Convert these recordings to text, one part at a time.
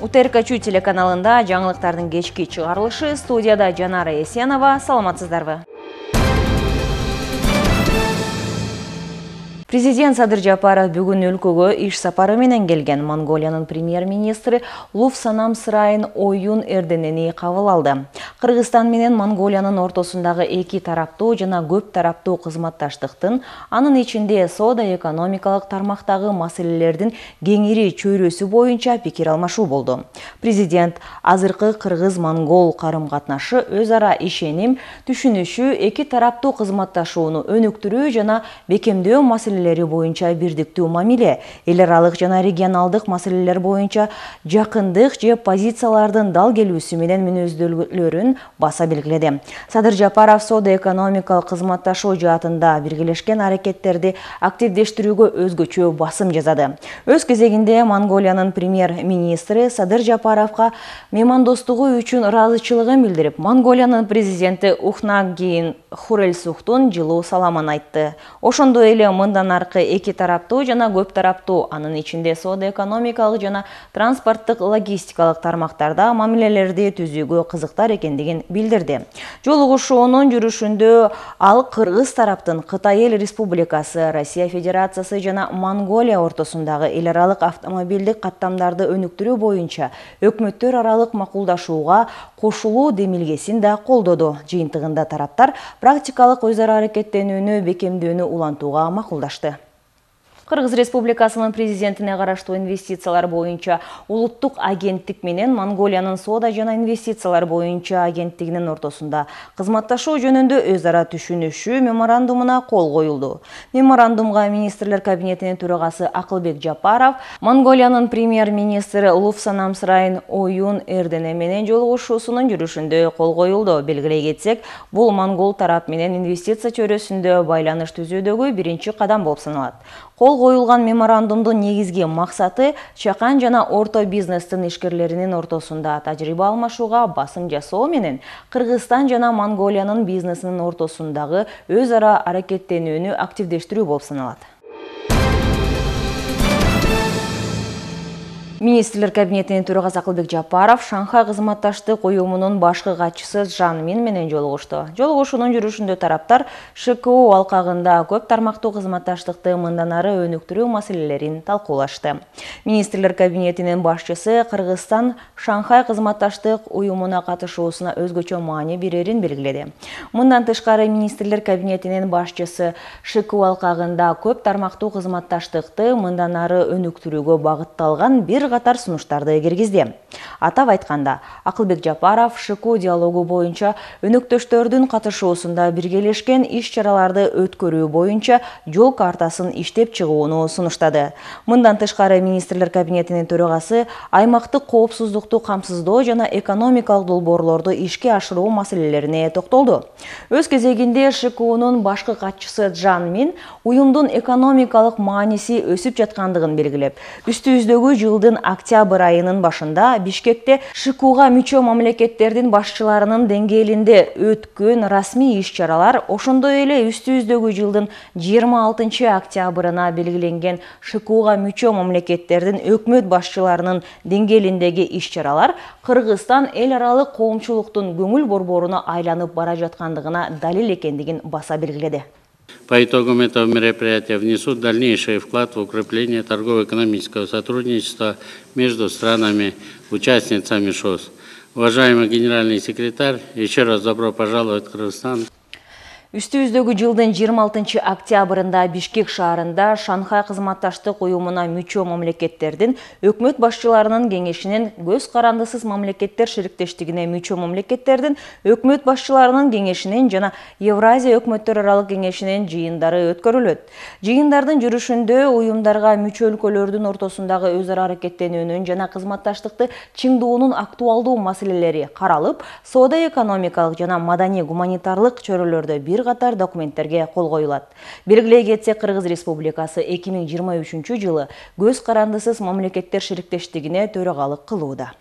УТРК телеканалында жаңылыктардын кечки чыгарылышы, студияда Жанара Есенова. Саламатсыздарбы? Президент Садыр Жапаров бүгүн өлкөгө иш сапары менен келген. Монголиянын премьер-министри Луфсанам Сырайын Оюн Эрденени кабыл алды. Кыргызстан менен Монголиянын ортосундагы эки тараптуу жана көп тараптуу кызматташтыктын, анын ичинде соода-экономикалык тармактагы маселелердин кеңири чөйрөсү боюнча пикир алмашуу болду. Президент азыркы кыргыз-монгол карым-катнашы өз ара ишеним, түшүнүшүү, эки тараптуу кызматташууну өнүктүрүү жана бекемдөө маселелери боюнча бирдиктүү мамиле, эл аралык жана регионалдык маселелер боюнча жакындык же позициялардын дал келүүсү менен мүнөздөлгөлөрүн баса белгиледи. Садыр Жапаров соода-экономикалык кызматташуу жаатында биргелешкен аракеттерди активдештирүүгө өзгөчө басым жасады. Өз кезегинде Монголиянын премьер-министри Садыр Жапаровго меймандостугу үчүн ыраазычылыгын билдирип, Монголиянын президенти Ухнаагийн Хурэлсухтун жылуу саламын айтты. Ошондой эле мындан аркы эки тараптуу жана көп тараптуу, анын ичинде соода-экономикалык жана транспорттук логистикалык тармактарда мамилелерди түзүүгө кызыктар экендигин билдирди. Жолугушуунун жүрүшүндө ал кыргыз тараптын Кытай Эл Республикасы, Россия Федерациясы жана Монголия ортосундагы эл аралык автомобилдик каттамдарды өнүктүрүү боюнча өкмөттөр аралык макулдашууга кошулуу демилгесин да колдоду. Жыйынтыгында тараптар практикалык өз ара аракеттенүүнү бекемдөөнү улантууга макулдашты. Кыргыз Республикасынын президентине караштуу инвестициялар боюнча улуттук агенттик менен Монголиянын соода жана инвестициялар боюнча агенттигинин ортосунда кызматташуу жөнүндө өз ара түшүнүшүү меморандумуна кол коюлду. Меморандумга министрлер кабинетинин төрагасы Акылбек Жапаров, Монголиянын премьер-министри Луфсанам Сырайын Оюн Эрдене менен жолугушуусунун жүрүшүндө кол коюлду. Белгилей кетсек, бул монгол тарап менен инвестиция чөйрөсүндө байланыш түзүүдөгү биринчи кадам болуп саналат. Кол коюлган меморандумдун негизги максаты чакан жана орто бизнестин ишкерлеринин ортосунда тажрыйба алмашууга басым жасоо менен Кыргызстан жана Монголиянын бизнесинин ортосундагы өз ара аракеттенүүнү активдештирүү болуп саналат. Министрлер кабинетинин төрагасы Акылбек Жапаров Шанхай кызматташтык уюмунун башкы катчысы Жан Мин менен жолугушту. Жолугушуунун жүрүшүндө тараптар ШКУ алкагында көп тармактуу кызматташтыкты мындан ары өнүктүрүү маселелерин талкуулашты. Министрлер кабинетинин башчысы Кыргызстан Шанхай кызматташтык уюмуна катышуусуна өзгөчө маани берерин белгиледи. Мындан тышкары министрлер кабинетинин башчысы ШКУ алкагында көп тармактуу кызматташтыкты мындан ары өнүктүрүүгө багытталган бир катар сунуштарды киргизди. Атап айтканда, Акылбек Жапаров ШКУ диалогу боюнча өнөктөштөрдүн катышуусунда биргелешкен иш-чараларды өткөрүү боюнча жол картасын иштеп чыгууну сунуштады. Мындан тышкары министрлер кабинетинин төрагасы аймактык коопсуздукту камсыздоо жана экономикалык долбоорлорду ишке ашыруу маселелерине токтолду. Өз кезегинде ШКУнун башкы катчысы Жан Мин уюмдун экономикалык мааниси өсүп жаткандыгын белгилеп, үстүбүздөгү жылдын октябрь айынын башында Бишкекте ШКУга мүчө мамлекеттердин башчыларынын деңгээлинде өткөн расмий иш-чаралар, ошондой эле үстүбүздөгү жылдын 26 октябрына белгиленген ШКУга мүчө мамлекеттердин өкмөт башчыларынын деңгээлиндеги иш-чаралар Кыргызстан эл аралык коомчулуктун көңүл борборуна айланып бара жаткандыгына далил экендигин баса белгиледи. По итогам этого мероприятия внесут дальнейший вклад в укрепление торгово-экономического сотрудничества между странами-участницами ШОС. Уважаемый генеральный секретарь, еще раз добро пожаловать в Кыргызстан. Үстүбүздөгү жылдын 26 октябрында Бишкек шаарында Шанхай кызматташтык уюмуна мүчө мамлекеттердин өкмөт башчыларынын кеңешинин көз карандысыз мамлекеттер шериктештигине мүчө мамлекеттердин өкмөт башчыларынын кеңешинин жана Евразия өкмөттөр аралык кеңешинин жыйындары өткөрүлөт. Жыйындардын жүрүшүндө уюмдарга мүчө өлкөлөрдүн ортосундагы өз ара аракеттенүүнүн жана кызматташтыкты чыңдоонун актуалдуу маселелери каралып, соода-экономикалык жана маданий-гуманитарлык чөйрөлөрдө бир катар документтерге кол коюлат. Белгилей кетсек, Кыргыз Республикасы 2023 жылы көз карандысыз мамлекеттер шериктештигине төрагалык кылууда.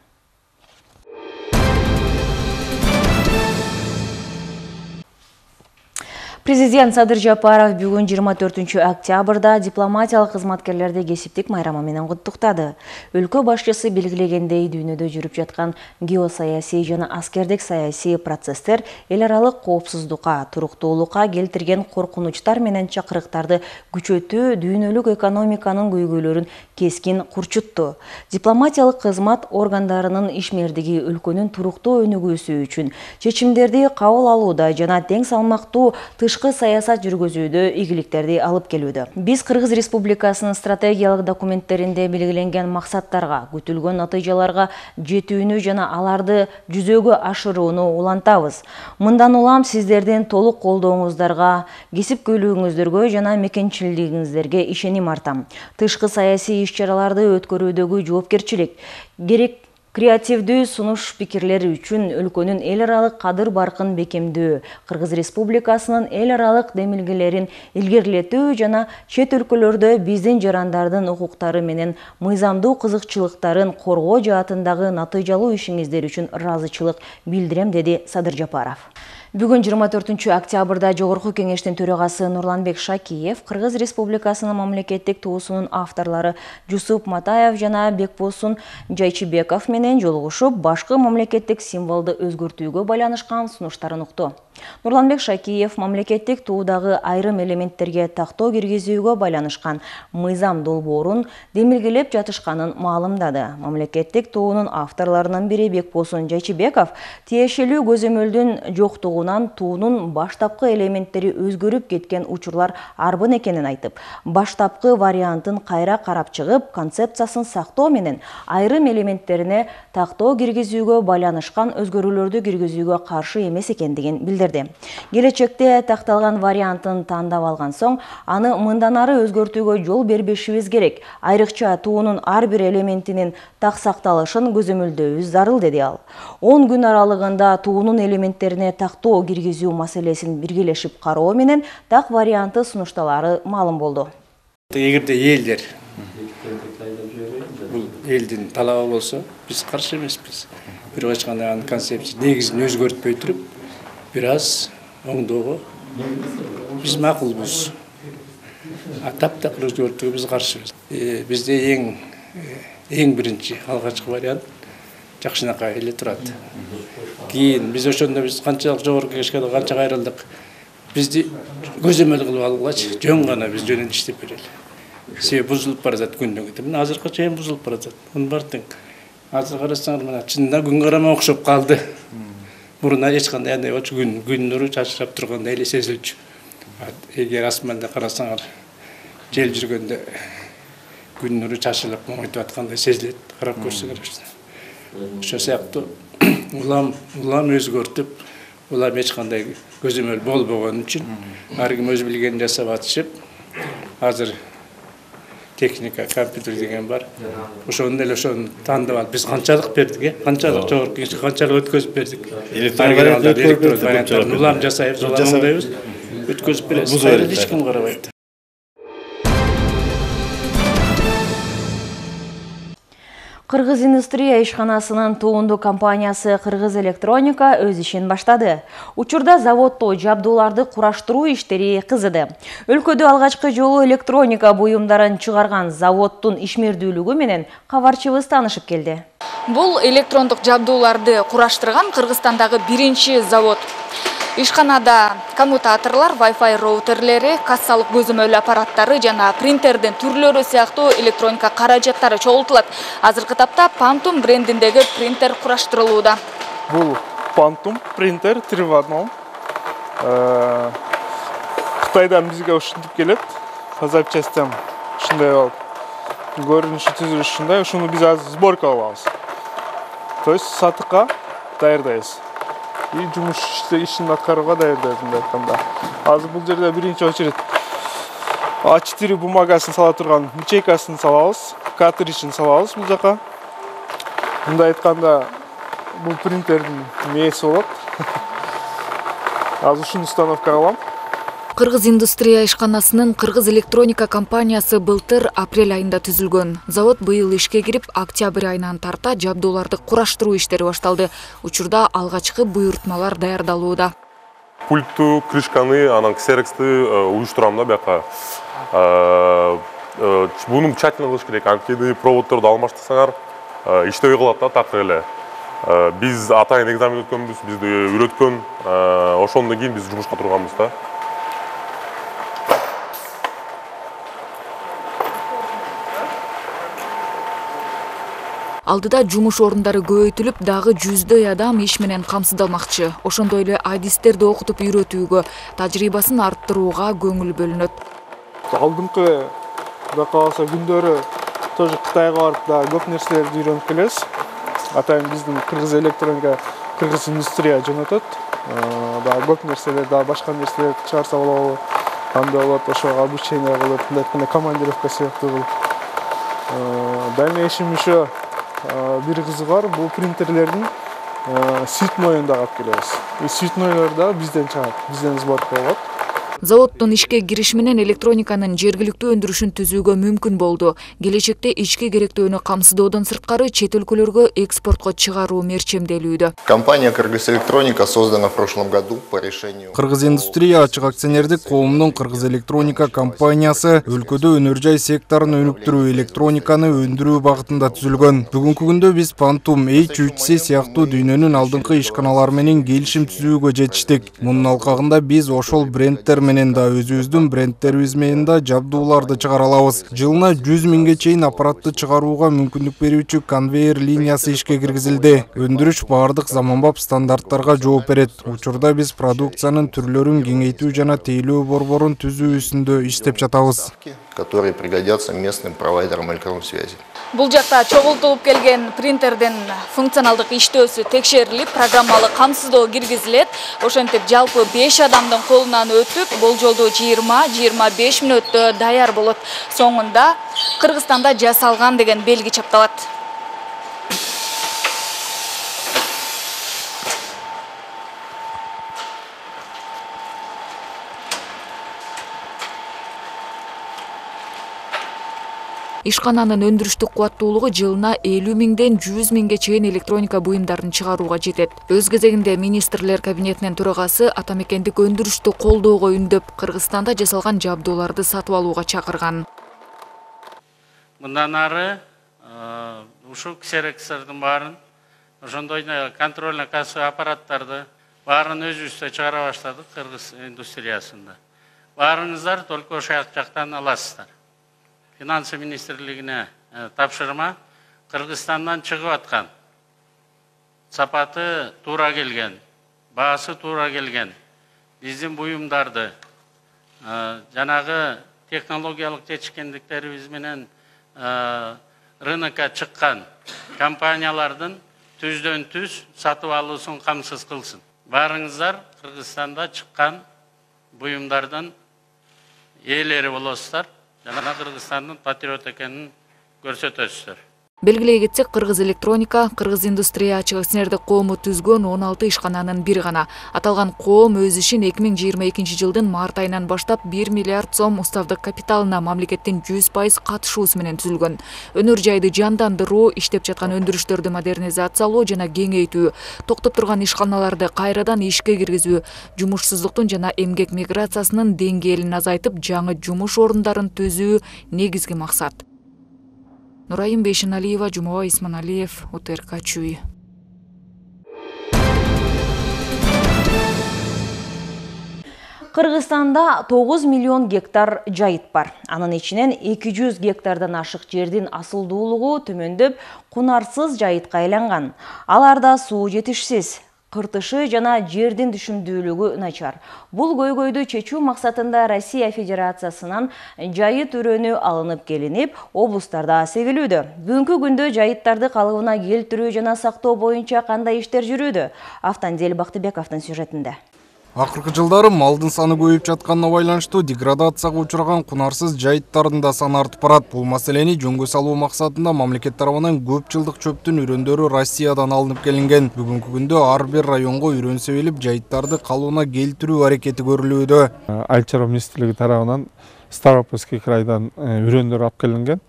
Президент Садыр Жапаров бүгүн 24 октябрда дипломатиялык кызматкерлерди кесиптик майрамы менен куттуктады. Өлкө башчысы белгилегендей, дүйнөдө жүрүп жаткан геосаясий жана аскердик саясий процесстер эл аралык коопсуздукка, туруктуулукка келтирген коркунучтар менен чакырыктарды күчөтүү дүйнөлүк экономиканын көйгөйлөрүн кескин курчутту. Дипломатиялык кызмат органдарынын ишмердиги өлкөнүн туруктуу өнүгүүсү үчүн чечимдерди кабыл алууда жана тең салмактуу тышкы саясат жүргүзүүдө ийгиликтерди алып келүүдө. Биз Кыргыз Республикасынын стратегиялык документтеринде белгиленген максаттарга, күтүлгөн натыйжаларга жетүүнү жана аларды жүзөгө ашырууну улантабыз. Мындан улам сиздердин толук колдооңуздарга, кесипкөйлүгүңүздөргө жана мекенчилигиңиздерге ишеним артам. Тышкы саясий иш-чараларды өткөрүүдөгү жоопкерчилик, керек креативдүү сунуш пикирлер үчүн өлкөнүн эл аралык кадыр-баркын бекемдөө, Кыргыз Республикасынын эл аралык демилгелерин илгерилетүү жана чет өлкөлөрдө биздин жарандардын укуктары менен мыйзамдуу кызыкчылыктарын коргоо жаатындагы натыйжалуу ишиңиздер үчүн ыраазычылык билдирем, деди Садыр Жапаров. Бүгүн 24 октябрда Жогорку кеңештин төрагасы Нурланбек Шакиев Кыргыз Республикасынын мамлекеттик туусунун авторлору Жусуп Матаев жана Бекбосун Жайчыбеков менен жолугушуп, башкы мамлекеттик символду өзгөртүүгө байланышкан сунуштарын укту. Нурланбек Шакиев мамлекеттик туудагы айрым элементтерге тактоо киргизүүгө байланышкан мыйзам долбоорун демилгелеп жатышканын маалымдады. Мамлекеттик туунун авторлорунун бири Бекбосун Жайчыбеков тиешелүү көзөмөлдүн жоктугунан туунун баштапкы элементтери өзгөрүп кеткен учурлар арбын экенин айтып, баштапкы вариантын кайра карап чыгып, концепциясын сактоо менен айрым элементтерине тактоо киргизүүгө байланышкан өзгөрүүлөрдү киргизүүгө каршы эмес экендигин билдирди. Келечекте такталган вариантын тандап алган соң, аны мындан ары өзгөртүүгө жол бербешибиз керек. Айрыкча туунун ар бир элементинин так сакталышын көзөмөлдөбүз зарыл, деди ал. 10 күн аралыгында туунун элементтерине тактоо киргизүү маселесин биргелешип кароо менен так варианты сунушталары маалым болду. Эгерде элдер бул элдин талабы болсо, биз каршы эмеспиз. Бирок ачканда анын концепция негизин өзгөртпөй туруп, бир аз оңдоого биз макулбуз. Таптакыр өзгөртүүгө биз каршыбыз. Бизде эң биринчи алгачкы вариант жакшынакай эле турат. Кийин биз ошондо канчалык жогорку кеңешке канча кайрылдык. Бизди көзөмөл кылып алгыгачы жөн гана биз жөнүндө иштеп берели. Себеби бузулуп бара жатат күндөн күнгө. Мына азыркы чейин бузулуп бара жатат. Мунун баардыгы азыр карасаңар мына чынында күн карама окшоп калды. Мурун эч кандай андай күн нуру чачырап тургандай эле сезилчү. Эгер асманда карасаңар, жел жүргөндө күн нуру чачылып моңойтуп аткандай сезилет, карап көрсөңөр. Ошо сыяктуу улам өзгөртүп, улам эч кандай көзөмөл болбогон үчүн ар ким өз билгенин жасап атышып, азыр техника, компьютер деген бар. Ошону тандап алып биз канчалык бердик, канчалык жогорку кеңешке канчалык өткөзүп бердик. Электрондук варианттарды улам жасайбыз, жасайбыз, өткөзүп беребиз. Эч ким карабайт. Кыргыз индустрия ишканасынын туунду компаниясы Кыргыз Электроника өз ишин баштады. Учурда заводдо жабдууларды кураштыруу иштери кызыды. Өлкөдө алгачкы жолу электроника буюмдарын чыгарган заводдун ишмердүүлүгү менен кабарчыбыз таанышып келди. Бул электрондук жабдууларды кураштырган Кыргызстандагы биринчи завод. Ишканада коммутаторлор, Wi-Fi роутерлери, кассалык көзөмөл аппараттары жана принтердин түрлөрү сыяктуу электроника каражаттары чогултулат. Азыркы тапта Phantom брендиндеги принтер кураштырылууда. Бул Phantom принтер 3 в 1. Кытайдан бизге ушинтип келет. Запчастям ушундай болуп. Көрүнүшү түзүлүшү ушундай. Ушуну биз азыр сборка кылабыз. То есть сатыкка даярдайбыз. И жумуш ишин аткарууга даярдайбыз мындай айтканда. Азыр бул жерде биринчи очередь А4 бумагасын сала турган ячейкасын салабыз, картриджин салабыз бул жака. Мындай айтканда бул принтердин мээси болот. Азыр ушуну установка кылам. Кыргыз индустрия ишканасынын Кыргыз Электроника компаниясы былтыр апрель айында түзүлгөн. Завод быйыл ишке кирип, октябрь айынан тарта жабдууларды кураштыруу иштери башталды. Учурда алгачкы буйртмалар даярдалууда. Пультту, крышканы, анан ксерексти уюштурам да бияка. Буну тщательно кылыш керек. Анткени проводдорду алмаштырсаңар, иштебей калат да так эле. Биз атайын экзамен өткөнбүз, бизди үйрөткөн, ошондон кийин биз жумушка турганбыз да. Алдыда жумуш орундары көбөйтүлүп, дагы жүздөй адам иш менен камсыздалмакчы. Ошондой эле адистерди окутуп үйрөтүүгө, тажрыйбасын арттырууга көңүл бөлүнөт. Алдыңкы да калса күндөрү тоже Кытайга барып да көп нерселерди үйрөнүп келебиз. Атайын биздин кыргыз электроника, кыргыз индустрия жөнөтөт. Да көп нерселер, да башка нерселер чыгарса болобу, кандай болот, ошого обучение кылып, мындай айтканда командировка сыяктуу кылып. Дальнейшем еще бир кызыгы бар, бул принтерлердин сүйүтмөйүн да алып келебиз. Сүйүтмөйлөр да бизден чыгат, бизден сборка болот. Заводдун ишке кириши менен электрониканын жергиликтүү өндүрүшүн түзүүгө мүмкүн болду. Келечекте ички керектөөнү камсыздоодон сырткары чет өлкөлөргө экспортко чыгаруу мерчемделүүдө. Компания «Кыргыз Электроника» создана в прошлом году по решению. Кыргыз индустрия ачык акционердик коомунун Кыргыз Электроника компаниясы өлкөдө өнөр-жай секторун өнүктүрүү, электрониканы өндүрүү багытында түзүлгөн. Бүгүнкү күндө биз Phantom H3C сыяктуу дүйнөнүн алдыңкы ишканалары менен келишим түзүүгө жетиштик. Мунун алкагында биз ошол брендтер менен да өзүбүздүн брендтерибиз менен да жабдууларды чыгара алабыз. Жылына 100 миңге чейин аппаратты чыгарууга мүмкүндүк берүүчү конвейер линиясы ишке киргизилди. Өндүрүш баардык заманбап стандарттарга жооп берет. Учурда биз продукциянын түрлөрүн кеңейтүү жана тейлөө борборун түзүү үстүндө иштеп жатабыз, которые пригодятся местным провайдерам электронной связи. Бул жакта чогултулуп келген принтердин функционалдык иштөөсү текшерилип, программалык камсыздоо киргизилет. Ошентип жалпы 5 адамдын колунан өтүп, болжолдуу 20-25 мүнөттө даяр болот. Соңунда Кыргызстанда жасалган деген белги чапталат. Ишкананын өндүрүштүк кубаттуулугу жылына 50 миңден 100 миңге чейин электроника буюмдарын чыгарууга жетет. Өз кезегинде министрлер кабинетинин төрагасы атамекендик өндүрүштү колдоого үндөп, Кыргызстанда жасалган жабдууларды сатып алууга чакырган. Мындан ары ушул ксерекстердин баарын, ошондой контрольно кассовый аппараттарды баарын өзүбүздө чыгара баштадык кыргыз индустриясында. Баарыңыздар только ошол жактан аласыздар. Финансы министрлигине тапшырма Кыргызстандан чыгып аткан, сапаты туура келген, баасы туура келген биздин буюмдарды жанагы технологиялык жетишкендиктерибиз менен рынокко чыккан компаниялардын түздөн түз сатып алуусун камсыз кылсын. Баарыңыздар Кыргызстанда чыккан буюмдардын ээлери болосуздар. Жана Кыргызстандын патриот экенин көрсөтөсүздөр. Белгилей кетсек, Кыргыз электроника, Кыргыз индустрия ачык акционердик коому түзгөн 16 ишкананын бири гана. Аталган коом өз ишин 2022 жылдын март айынан баштап 1 миллиард сом уставдык капиталына мамлекеттин 100% катышуусу менен түзүлгөн. Өнөр жайды жандандыруу, иштеп жаткан өндүрүштөрдү модернизациялоо жана кеңейтүү, токтоп турган ишканаларды кайрадан ишке киргизүү, жумушсуздуктун жана эмгек миграциясынын деңгээлин азайтып, жаңы жумуш орундарын түзүү негизги максат. Нурайым Бейшеналиева, Жумабай Исманалиев, УТРК Чүй. Кыргызстанда 9 миллион гектар жайыт бар. Анын ичинен 200 гектардан ашык жердин асылдуулугу төмөндөп, кунарсыз жайытка айланган. Аларда суу жетишсиз, кыртышы жана жердин түшүмдүүлүгү начар. Бул көйгөйдү чечүү максатында Россия Федерациясынан жайыт өрөнү алынып келинип, облустарда сегилүүдө. Бүгүнкү күндө жайыттарды калыбына келтирүү жана сактоо боюнча кандай иштер жүрүүдө? Автандел Бактыбековдун сюжетинде. Акыркы жылдары малдын саны көбөйүп жатканына байланыштуу деградацияга учураган кунарсыз жайыттардын да саны артып барат. Бул маселени жөнгө салуу максатында мамлекет тарабынан көп жылдык чөптүн үрөндөрү Россиядан алынып келинген. Бүгүнкү күндө ар бир районго үрөн себилип, жайыттарды калыбына келтирүү аракети көрүлүүдө. Айыл чарба министрлиги тарабынан Ставропольский крайдан үрөндөр алып келинген.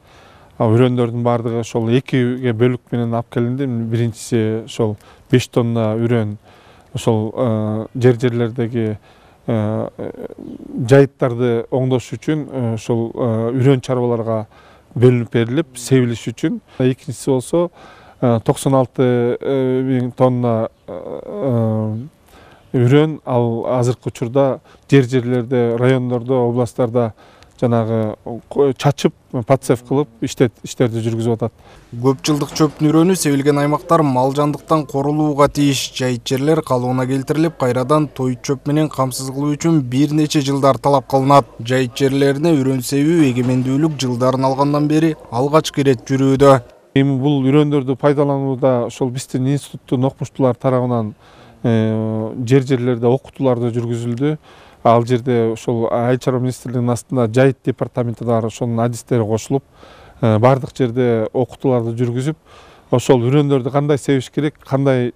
Үрөндөрдүн баардыгы ошол экиге бөлүк менен алып келинди. Биринчиси ошол 5 тонна үрөн ошол жерлердеги жайыттарды оңдош үчүн ошол үрөн чарбаларга бөлүнүп берилип, себилиш үчүн. Экинчиси болсо 96.000 тонна үрөн ал азыркы учурда жерлерде, райондордо, областтарда жанагы чачып, подсев кылып иштерди жүргүзүп атат. Көп жылдык чөптүн үрөнү себилген аймактар мал жандыктан корулууга тийиш. Жайыт жерлер калыбына келтирилип, кайрадан той чөп менен камсыз кылуу үчүн бир нече жылдар талап кылынат. Жайыт жерлерине үрөн себүү эгемендүүлүк жылдарын алгандан бери алгачкы ирет жүрүүдө. Эми бул үрөндөрдү пайдаланууда ошол биздин институттун окумуштуулар тарабынан жерлерде окутууларды жүргүзүлдү. Ал жерде ошол Айыл чарба министрлигинин астында жайыт департаменти бар, ошонун адистери кошулуп, бардык жерде окутууларды жүргүзүп, ошол үрөндөрдү кандай себиш керек, кандай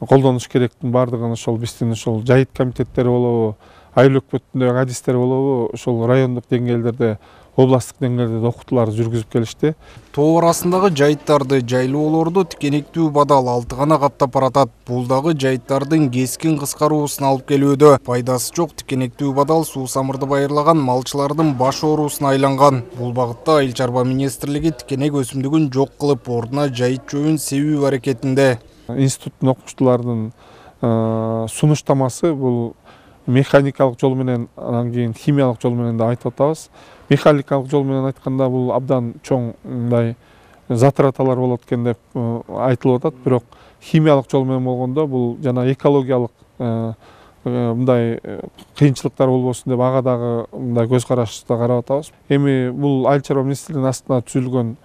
колдонуш керектин бардыгын ошол биздин ошол жайыт комитеттери болобу, айыл өкмөтүндөгү адистер болобу, ошол райондук деңгээлдерде, областтык деңгээлде окутууларды жүргүзүп келишти. Тоо арасындагы жайыттарды, жайлоолорду тикенектүү бадал 6 гана каптап баратат. Бул дагы жайыттардын кескин кыскаруусун алып келүүдө. Пайдасы жок тикенектүү бадал суу самырды байырлаган малчылардын баш оорусуна айланган. Бул багытта Айыл чарба министрлиги тикенек өсүмдүгүн жок кылып, ордуна жайыт чөбүн себүү аракетинде. Институттун окумуштууларынын сунуштамасы бул механикалык жол менен, анан кийин химиялык жол менен да айтып атабыз. Механикалык жол менен айтканда бул абдан чоң мындай затраталар болот экен деп айтылып атат, бирок химиялык жол менен болгондо бул жана экологиялык мындай кыйынчылыктар болбосун деп ага дагы мындай көз карашта карап атабыз. Эми бул Айыл чарба министрлигинин астында түзүлгөн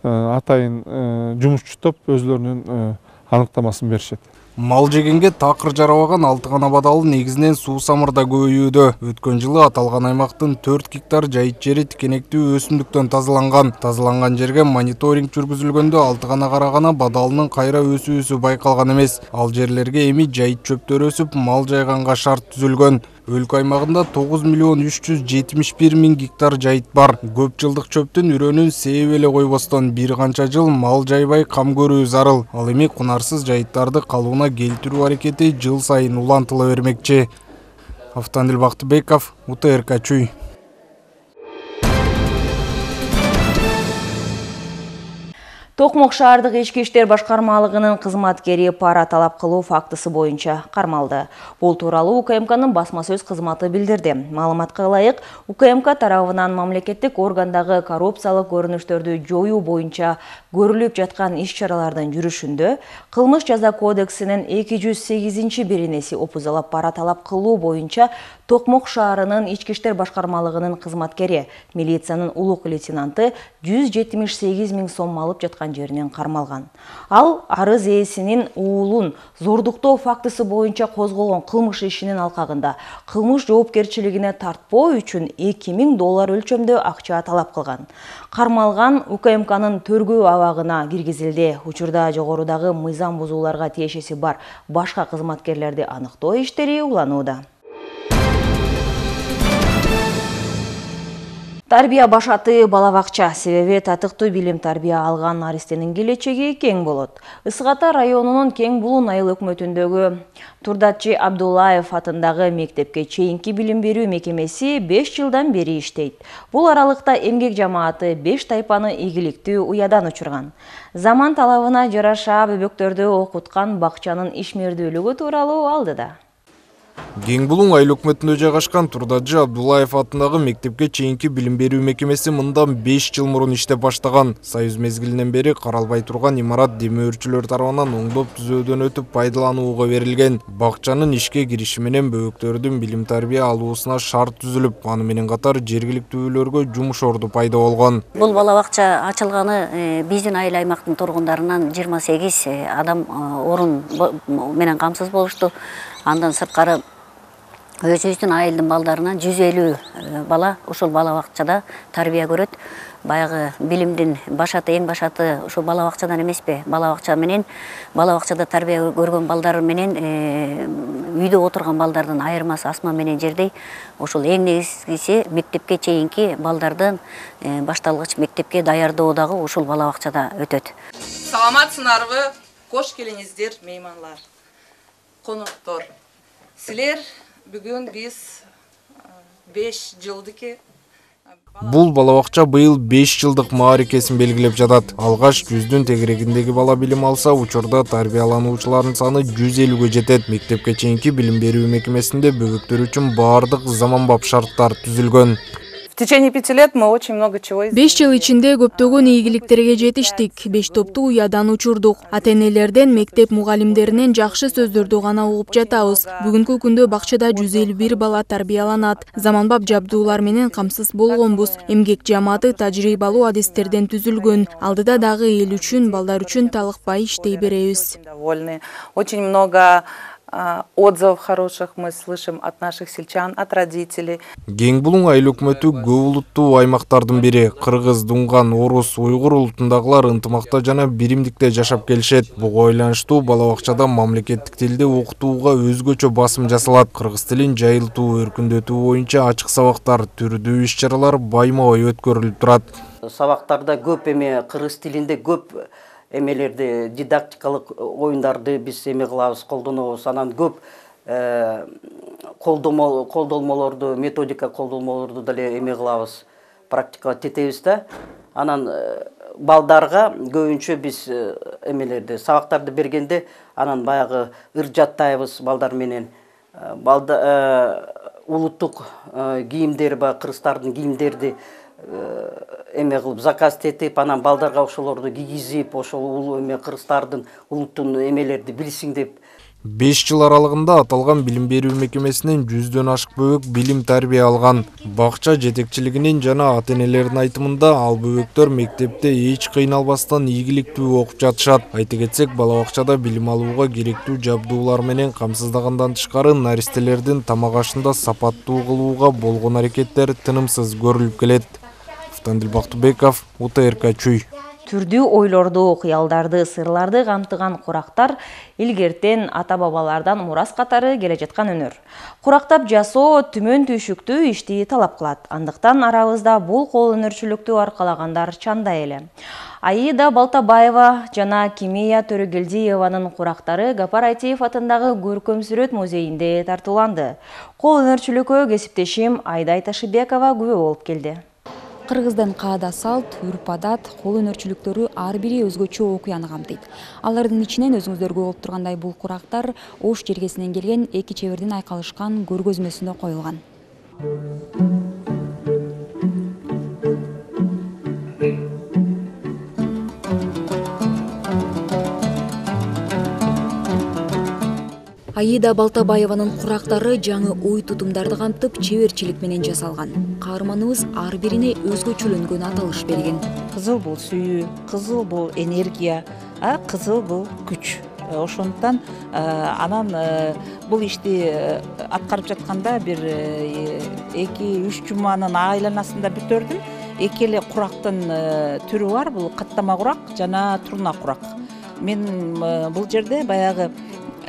атайын жумушчу топ өзлөрүнүн аныктамасын беришет. Мал жегенге такыр жарабаган 6 гана бадалдын негизинен суу самырда көбөйүүдө. Өткөн жылы аталган аймактын 4 гектар жайыт жери тикенектүү өсүмдүктөн тазаланган. Тазаланган жерге мониторинг жүргүзүлгөндө 6 гана карагана бадалынын кайра өсүүсү байкалган эмес. Ал жерлерге эми жайыт чөптөр өсүп, мал жайганга шарт түзүлгөн. Өлкө аймагында 9.371.000 гектар жайыт бар. Көп жылдык чөптүн үрөнүн сээп эле койбостон бир канча жыл мал жайбай кам көрүү зарыл. Ал эми кунарсыз жайыттарды калыбына келтирүү аракети жыл сайын улантыла бермекчи. Автандил Бактыбеков, УТРК Чүй. Токмок шаардык ички иштер башкармалыгынын кызматкери пара талап кылуу фактысы боюнча кармалды. Бул тууралуу УКМКнын басма сөз кызматы билдирди. Маалыматка ылайык, УКМК тарабынан мамлекеттик органдагы коррупциялык көрүнүштөрдү жоюу боюнча көрүлүп жаткан иш-чаралардын жүрүшүндө Кылмыш жаза кодексинин 208-биринеси опузалап пара талап кылуу боюнча Токмок шаарынын ички иштер башкармалыгынын кызматкери, милициянын улук лейтенанты 178 000 сом алып жаткан жеринен кармалган. Ал арыз ээсинин уулун зордуктоо фактысы боюнча козголгон кылмыш ишинин алкагында кылмыш жоопкерчилигине тартпоо үчүн $2000 өлчөмдө акча талап кылган. Кармалган УКМКнын төргөө абагына киргизилди. Учурда жогорудагы мыйзам бузууларга тиешеси бар башка кызматкерлерди аныктоо иштери уланууда. Тарбия башаты балабакча, себеби татыктуу билим тарбия алган наристенин келечеги кең болот. Ысык Ата районунун Кең Булун айыл өкмөтүндөгү Турдатчы Абдуллаев атындагы мектепке чейинки билим берүү мекемеси 5 жылдан бери иштейт. Бул аралыкта эмгек жамааты 5 тайпаны ийгиликтүү уядан учурган. Заман талабына жараша бөбөктөрдү окуткан бакчанын ишмердүүлүгү тууралуу алдыда. Кең Булун айыл өкмөтүндө жайгашкан Турдатчы Абдуллаев атындагы мектепке чейинки билим берүү мекемеси мындан 5 жыл мурун иштеп баштаган. Союз мезгилинен бери каралбай турган имарат демөөрчүлөр тарабынан оңдоп түзөөдөн өтүп пайдаланууга берилген. Бакчанын ишке кириши менен бөбөктөрдүн билим тарбия алуусуна шарт түзүлүп, аны менен катар жергиликтүүлөргө жумуш орду пайда болгон. Бул балабакча ачылганы биздин айыл аймактын тургундарынан 28 адам орун менен камсыз болушту. Андан сырткары өзүбүздүн айылдын балдарынан 150 бала ушул балабакчада тарбия көрөт. Баягы билимдин башаты, эң башаты ушул балабакчадан эмеспи? Балабакчада тарбия көргөн балдар менен үйдө отурган балдардын айырмасы асма менен жердей. Ушул эң негизгиси мектепке чейинки балдардын башталгыч мектепке даярдоо дагы ушул балабакчада өтөт. Саламатсыңарбы? Кош келиңиздер, мейманлар. коноктор, силер бүгүн биз 5 жылдык Бул балабакча быйыл 5 жылдык маарикесин белгилеп жатат. Алгаш 100дүн тегерегиндеги бала билим алса, учурда тарбиялануучулардын саны 150ге жетет. Мектепке чейинки билим берүү мекемесинде бөбөктөр үчүн баардык заманбап шарттар түзүлгөн. В течение 5 лет мы очень много чего сделали. 5 жыл ичинде көптөгөн ийгиликтерге жетиштик. 5 топту уядан учурдук. Ата-энелерден, мектеп мугалимдеринен жакшы сөздөрдү гана угуп жатабыз. Бүгүнкү күндө бакчада 151 бала тарбияланат. Заманбап жабдуулар менен камсыз болгонбуз. Эмгек жамааты тажрыйбалуу адистерден түзүлгөн. Алдыда дагы эл үчүн, балдар үчүн талыкпай иштей беребиз. Очень много отзывов хороших мы слышим от наших сельчан, от родителей. Кең Булуң айыл өкмөтү көп улуттуу аймактардын бири. Кыргыз, Дунган, Орус, Уйгур улутундагылар ынтымакта жана биримдикте жашап келишет. Буга байланыштуу балабакчада мамлекеттик тилде окутууга өзгөчө басым жасалат. Кыргыз тилин жайылтуу, өркүндөтүү боюнча ачык сабактар, түрдүү иш-чаралар байма-бай өткөрүлүп турат. Сабактарда көп кыргыз тилинде көп эмелерди, дидактикалык оюндарды биз кылабыз, колдонобуз. Анан көп колдолмолорду, методика колдолмолорду деле кылабыз, практикага тетебиз да. Анан балдарга көбүнчө биз сабактарды бергенде анан баягы ыр жаттайбыз балдар менен. Улуттук кийимдер бар, кыргыздардын кийимдерди кылып заказ тетип, анан балдарга ошолорду кийгизип, ошол кыргыздардын улуттун эмелерди билсин деп. 5 жыл аралыгында аталган билим берүү мекемесинен 100дөн ашык бөбөк билим тарбия алган. Бакча жетекчилигинин жана ата-энелердин айтымында ал бөбөктөр мектепте эч кыйналбастан ийгиликтүү окуп жатышат. Айта кетсек, балабакчада билим алууга керектүү жабдуулар менен камсыздагандан тышкары наристелердин тамак ашында сапаттуу кылууга болгон аракеттер тынымсыз көрүлүп келет. Автандил Бактыбеков, УТРК Чүй. Түрдүү ойлорду, кыялдарды, сырларды камтыган курактар илгертен ата-бабалардан мурас катары келе жаткан өнөр. Курактап жасоо түмөн түйшүктүү ишти талап кылат. Андыктан арабызда бул кол өнөрчүлүктү аркалагандар чанда эле. Аида Балтабаева жана Кимия Төрөгелдиеванын курактары Гапар Айтиев атындагы Көркөм сүрөт музейинде тартууланды. Кол өнөрчүлүккө кесиптешим Айдай Ташыбекова күбө болуп келди. Кыргыздын каада салт, үрп-адат, кол өнөрчүлүктөрү ар бири өзгөчө окуяны камтыйт. Алардын ичинен өзүңүздөргө болуп тургандай бул курактар Ош жергесинен келген эки чебердин айкалышкан көргөзмөсүндө коюлган. Аида Балтабаеванын курактары жаңы ой тутумдарды камтып, чеберчилик менен жасалган. Каарманыбыз ар бирине өзгөчөлөнгөн аталыш берген. Кызыл бул сүйүү, кызыл бул энергия, кызыл бул күч. Ошондуктан анан бул ишти аткарып жатканда бир 2-3 жуманын айланасында бүтөрдүм. Эки эле курактын түрү бар, бул каттама курак жана турна курак. Мен бул жерде баягы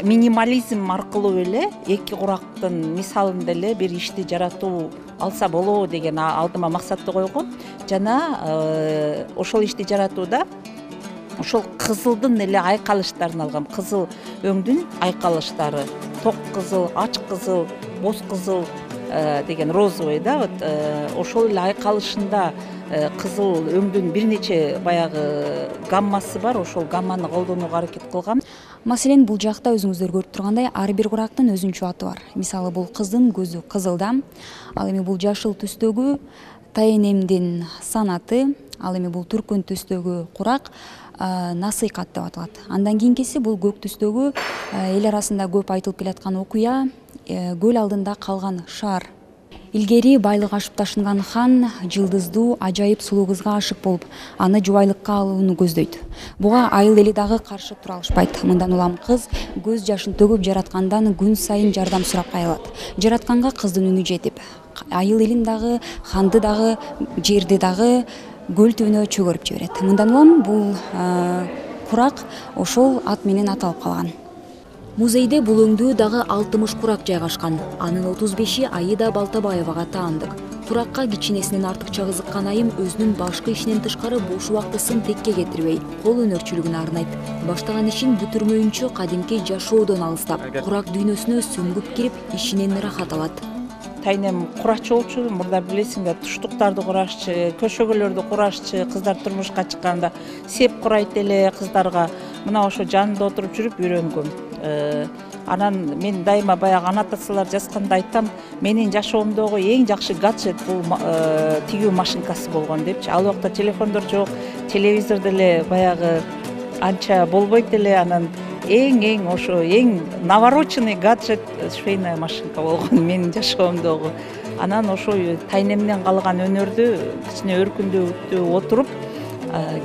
минимализм аркылуу эле эки курактын мисалында эле бир ишти жаратуу алса болобу деген алдыма максатты койгом. Жана ошол ишти жаратууда ошол кызылдын эле айкалыштарын алгам. Кызыл өңдүн айкалыштары, ток кызыл, ач кызыл, боз кызыл деген розовый да, вот ошол эле айкалышында кызыл өңдүн бир нече баягы гаммасы бар, ошол гамманы колдонууга аракет кылгам. Маселен, бул жакта өзүңүздөр көрүп тургандай ар бир курактын өзүнчө аты бар. Мисалы, бул кыздын көзү кызылда, ал эми бул жашыл түстөгү тайенемдин санаты, ал эми бул түркөн түстөгү курак насыйкат деп аталат. Андан кийинкиси бул көк түстөгү эл арасында көп айтылып келаткан окуя, көл алдында калган шаар. Илгери байлык ашып ташынган хан жылдыздуу ажайып сулуу кызга ашык болуп, аны жубайлыкка алууну көздөйт. Буга айыл эли дагы каршы тура алышпайт. Мындан улам кыз көз жашын төгүп жараткандан күн сайын жардам сурап кайрылат. Жаратканга кыздын үнү жетип, айыл элин дагы, ханды дагы, жерди дагы көл түбүнө чөгөрүп жиберет. Мындан улам бул курак ошол ат менен аталып калган. Музейде бул өңдүү дагы 60 курак жайгашкан. Анын 35-и Аида Балтабаевага таандык. Куракка кичинесинен артыкча кызыккан айым өзүнүн башкы ишинен тышкары бош убактысын текке кетирбей, кол өнөрчүлүгүн арнайт. Баштаган ишин бүтүрмөйүнчө кадимки жашоодон алыстап, курак дүйнөсүнө сүңгүп кирип, ишинен ырахат алат. Тайнем курачы болчу, мурда билесиңер, туштуктарды курашчы, көшөгөлөрдү курашчы, кыздар турмушка чыкканда сеп курайт эле кыздарга. Мына ошо жанында отуруп жүрүп үйрөнгөм. Анан мен дайыма баягы аннотациялар жазганда айтам, менин жашоомдогу эң жакшы гаджет бул тигүү машинкасы болгон депчи. Ал убакта телефондор жок, телевизор деле баягы анча болбойт эле. Анан эң ошо эң навороченный гаджет швейная машинка болгон менин жашоомдогу. Анан ошо тайнемден калган өнөрдү кичине өркүндөтүп отуруп,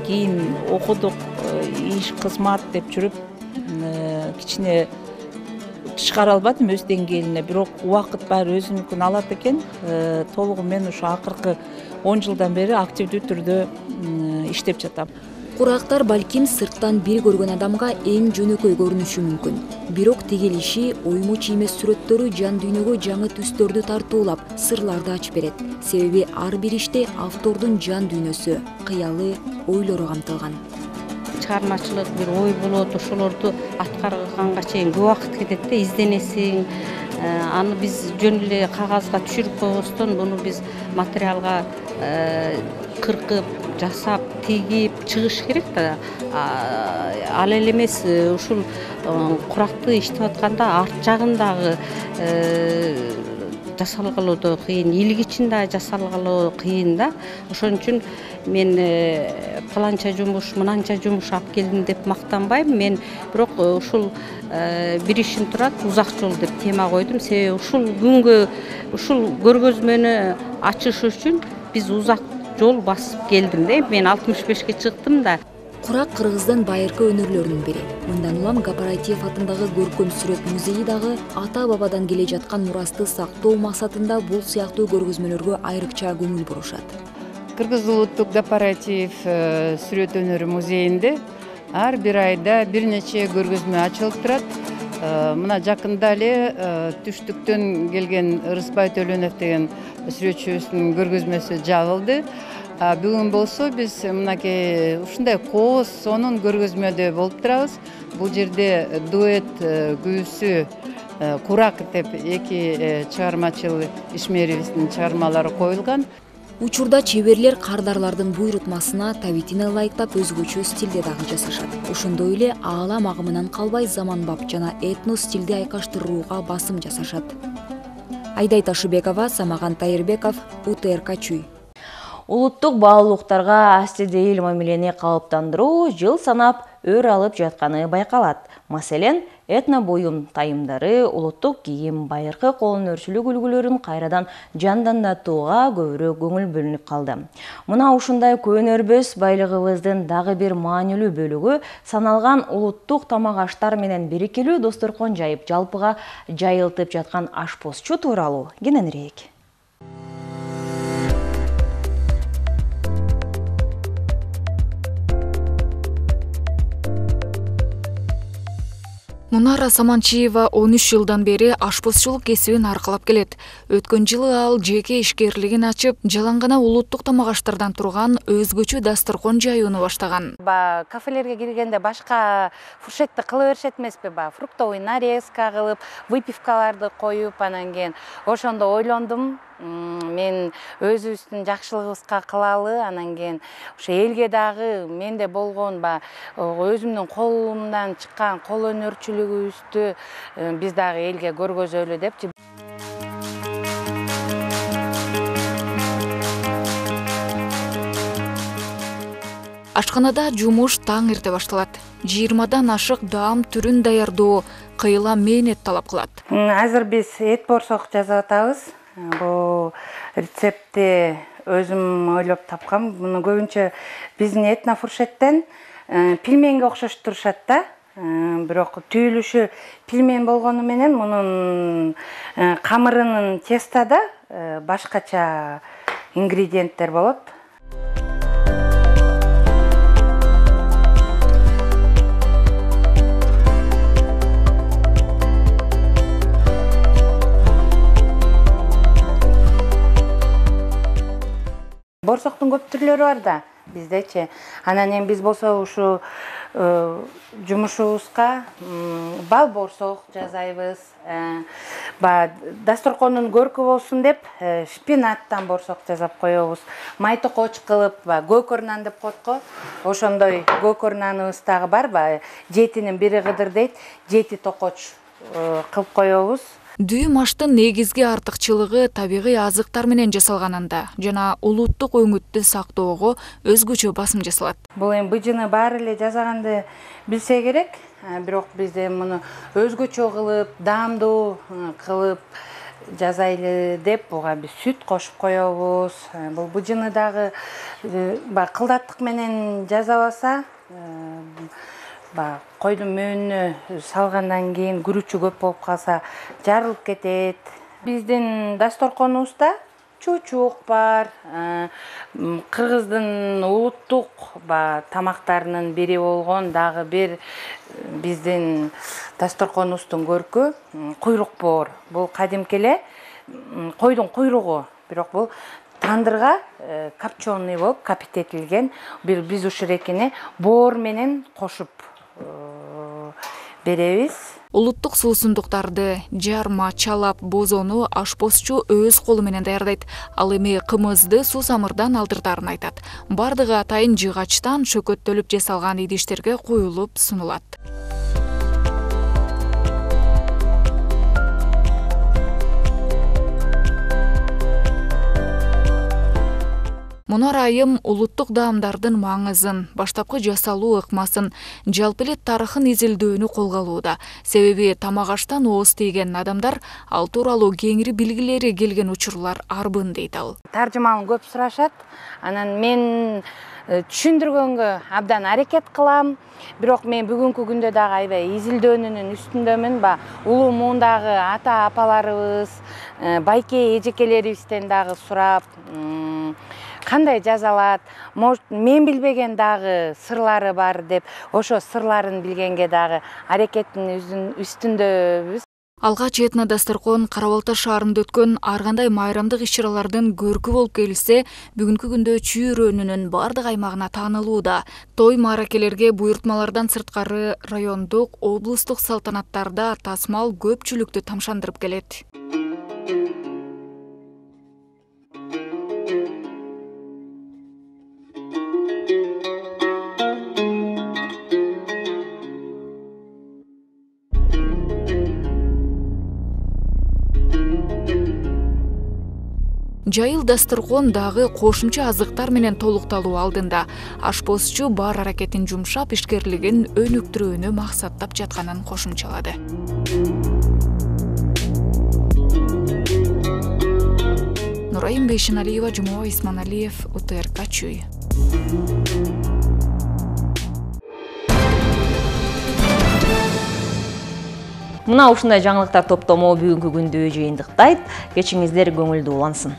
кийин окудук, иш кызмат деп жүрүп, кичине чыгара албадым өз деңгээлине, бирок убакыт баары өзүнүкүн алат экен. Толугу мен ушу акыркы 10 жылдан бери активдүү түрдө иштеп жатам. Курактар балким сырттан бир көргөн адамга эң жөнөкөй көрүнүшү мүмкүн. Бирок тигилиши, оймуч эмес сүрөттөрү жан дүйнөгө жаңы түстөрдү тартуулап, сырларды ачып берет. Себеби ар бир иште автордун жан дүйнөсү, кыялы, ойлору камтылган. Чыгармачылык бир ой болот, ошолорду аткарганга чейин көп убакыт кетет да, изденесиң. Аны биз жөн эле кагазга түшүрүп койбостон, буну биз материалга кыркып, жасап, тигип чыгыш керек да. Ал эле эмес, ушул куракты иштеп атканда арт жагындагы жасалгалоо да кыйын, илгичин да жасалгалоо кыйын да. Ошон үчүн мен фаланча жумуш, мынанча жумуш алып келдим деп мактанбайм. Мен бирок ушул бир ишин турат, узак жол деп тема койдум. Себеби ушул күнгө, ушул көргөзмөнү ачыш үчүн биз узак жол басып келдим да. Мен 65-ке чыктым да. Курак Кыргыздын байыркы өнөрлөрүнүн бири. Мындан улам Гапараитиев атындагы көркөм сүрөт музейи дагы ата-бабадан келе жаткан мурасты сактоо максатында бул сыяктуу көргөзмөлөргө айрыкча көңүл бурушат. Кыргыз улуттук Гапараитиев сүрөт өнөрү музейинде ар бир айда бир нече көргөзмө ачылып турат. Мына жакында эле түштүктөн келген Ырысбай Төлөнов деген сүрөтчүбүздүн көргөзмөсү жабылды. Бүгүн болсо биз мынакей ушундай кооз сонун көргөзмөдө болуп турабыз. Бул жерде дуэт күйүүсү Курак деп эки чыгармачыл ишмерибиздин чыгармалары коюлган. Учурда чеберлер кардарлардын буйрутмасына табитин ылайыктап өзгөчө стилде дагы жасашат. Ошондой эле аалам агымынан калбай заманбап жана этнос стилди айкаштырууга басым жасашат. Айдай Ташыбекова, Самаган Тайырбеков, УТРК Чүй. Улуттук баалуулуктарга астидейил мамилени калыптандыруу жыл санап өр алып жатканы байкалат. Маселен, этно буюм тайымдары, улуттук кийим, байыркы кол өнөрчүлүк үлгүлөрүн кайрадан жандандатууга көбүрөөк көңүл бөлүнүп калды. Мына ушундай көөнөрбөс байлыгыбыздын дагы бир маанилүү бөлүгү саналган улуттук тамак аштар менен берекелүү дасторкон жайып, жалпыга жайылтып жаткан ашпозчу тууралуу кененирээк. Мунара Саманчиева 13 жылдан бери ашпозчулук кесибин аркылап келет. Өткөн жылы ал жеке ишкерлигин ачып, жалаң гана улуттук тамак аштардан турган өзгөчө дасторкон жаюуну баштаган. Кафелерге киргенде башка фуршетти кыла беришет эмеспи, фруктовый нарезка кылып, выпивкаларды коюп, анан кийин ошондо ойлондум. Мен өзүбүздүн жакшылыгыбызга кылалы, анан кийин ошо элге дагы менде болгон өзүмдүн колумдан чыккан кол өнөрчүлүгүбүздү биз дагы элге көргөзөлү депчи. Ашканада жумуш таң эрте башталат. 20дан ашык даам түрүн даярдоо кыйла мээнет талап кылат. Азыр биз эт борсок жасап атабыз. Бул рецептти өзүм ойлоп тапкам. Муну көбүнчө биздин этнофуршеттен пельменге окшош турушат да. Бирок түйүлүшү пельмен болгону менен мунун камырынын тестода башкача ингредиенттер болот. борсоктун көп түрлөрү бар да биздечи. Анан эми биз болсо ушу жумушубузга бал борсок жасайбыз. Дасторкондун көркү болсун деп шпинаттан борсок жасап коебуз. Май токоч кылып, көкөр нан деп коет го. Ошондой көкөр наныбыз дагы бар. Жетинин бири кыдыр дейт, жети токоч кылып коебуз. Дүйүм аштын негизги артыкчылыгы табигый азыктар менен жасалганында жана улуттук өңүттү сактоого өзгөчө басым жасалат. Бул эми быжыны баары эле жасаганды билсе керек, бирок биз эми муну өзгөчө кылып, даамдуу кылып жасайлы деп буга биз сүт кошуп коебуз. Бул быжыны дагы кылдаттык менен жасабаса, койдун мөөнүнө салгандан кийин күрүчү көп болуп калса жарылып кетет. Биздин дасторконубузда чучук бар, кыргыздын улуттук тамактарынын бири болгон дагы бир биздин дасторконубуздун көркү куйрук боор. Бул кадимки эле койдун куйругу, бирок бул тандырга копченый болуп капитетилген. Биз ушул экини боор менен кошуп беребиз. Улуттук суусундуктарды жарма, чалап, бозону ашпозчу өз колу менен даярдайт. Ал эми кымызды суусамырдан алдыртарын айтат. Бардыгы атайын жыгачтан шөкөттөлүп жасалган идиштерге куюлуп сунулат. Мунар айым улуттук даамдардын маңызын, баштапкы жасалуу ыкмасын, жалпы эле тарыхын изилдөөнү колго алууда. Себеби тамак аштан ооз тийген адамдар ал тууралуу кеңири билгилери келген учурлар арбын дейт ал. Таржымалын көп сурашат. Анан мен түшүндүргөнгө абдан аракет кылам. Бирок мен бүгүнкү күндө дагы аябай изилдөөнүн үстүндөмүн. Улуу муундагы ата апаларыбыз, байке эжекелерибизден дагы сурап, кандай жазалат, мен билбеген дагы сырлары бар деп, ошо сырларын билгенге дагы аракеттин үстүндөбүз. Алгач этно дасторкон Кара Балта шаарында өткөн ар кандай майрамдык иш-чаралардын көркү болуп келсе, бүгүнкү күндө чүйрөнүнүн бардык аймагына таанылууда. Той мааракелерге буйртмалардан сырткары райондук, облустук салтанаттарда тасмал көпчүлүктү тамшандырып келет. Жайыл дасторкон дагы кошумча азыктар менен толукталуу алдында. Ашпозчу бар аракетин жумшап, ишкерлигин өнүктүрүүнү максаттап жатканын кошумчалады. Нурайым Бейшеналиева, Жумабек Исманалиев, УТРК Чүй. Мына ушундай жаңылыктар топтому бүгүнкү күндү жыйынтыктайт. Кечиңиздер көңүлдүү улансын.